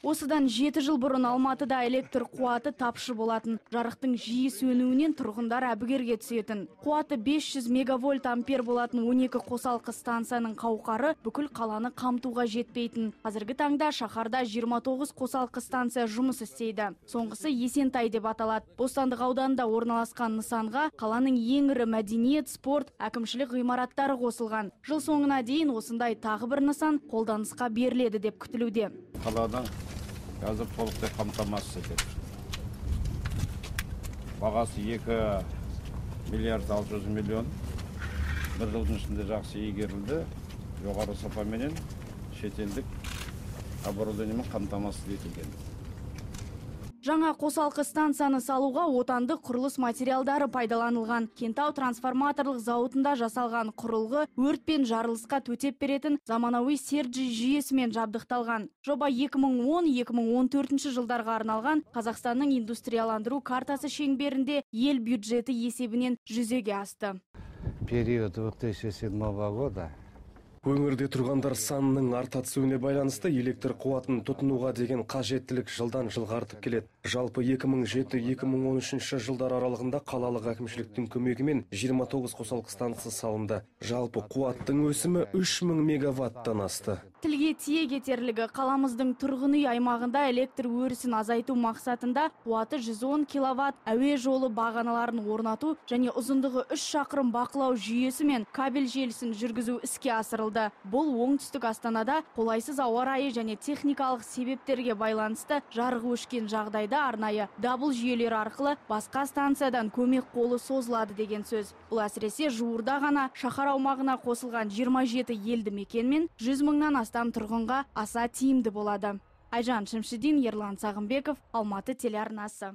Осыдан 7 жыл бұрын Алматыда электр қуаты тапшы болатын. Жарықтың жиі сөнуінен тұрғындар әбігерге түсетін. Қуаты 500 мегавольт ампер болатын 12 қосалқы станцияның қауқары бүкіл қаланы қамтуға жетпейтін. Қазіргі таңда шаһарда 29 қосалқы станция жұмыс істейді. Соңғысы Есентай деп аталады. Бостандық ауданында орналасқан нысанға қаланың ең ірі мәдениет, спорт, әкімшілік ғимараттары қосылған. Жыл соңына дейін осындай тағы бір нысан қолданысқа беріледі деп күтілуде. Қаланың қазір толықтай қамтамасыз етеді. Бағасы 2 миллиард 600 миллион. Бір жылдың ішінде жақсы игерілді. Жоғары сапаменен шетелдік оборудованиемен қамтамасыз етілген. Жаңа қосалқы станцияны салуға отандық құрылыс материалдары пайдаланылған. Кентау трансформаторлық зауытында жасалған құрылғы өрт пен жарылысқа төтеп беретін заманауи Серджи жүйесімен жабдықталған. Жоба 2010-2014 жылдарға арналған Қазақстанның индустрияландыру картасы шеңберінде ел бюджеті есебінен жүзеге асты. Период 2007 года Өңірде тұрғандар санының арта түсуіне байланысты электр қуатын тұтынуға деген қажеттілік жылдан жылға артып келеді. Жалпы 2007-2013 жылдар аралығында қалалық әкімшіліктің көмегімен 29 қосалқы станция салынды. Жалпы қуаттың өсімі 3000 мегаваттан асты. Тілге тиек етерлігі қаламыздың тұрғын үй аймағында электр өрісін азайту мақсатында қуаты 110 киловатт әуе жолы бағаналарын орнату және ұзындығы 3 шақырым бақылау жүйесі мен кабель желісін жүргізу іске асырылды. Бұл оңтүстік Астанада қолайсыз ауа райы және техникалық себептерге байланысты жарығы өшкен жағдайда арнайы дабыл жүйелері арқылы басқа станциядан көмек қолы созылады деген сөз. Бұл әсіресе жуырда ғана шаһар аумағына қосылған 27 елді мекен мен 100 мыңнан астам тұрғынға аса тиімді болады. Айжан Шымшидин, Ерлан Сағымбеков, Алматы телеарнасы.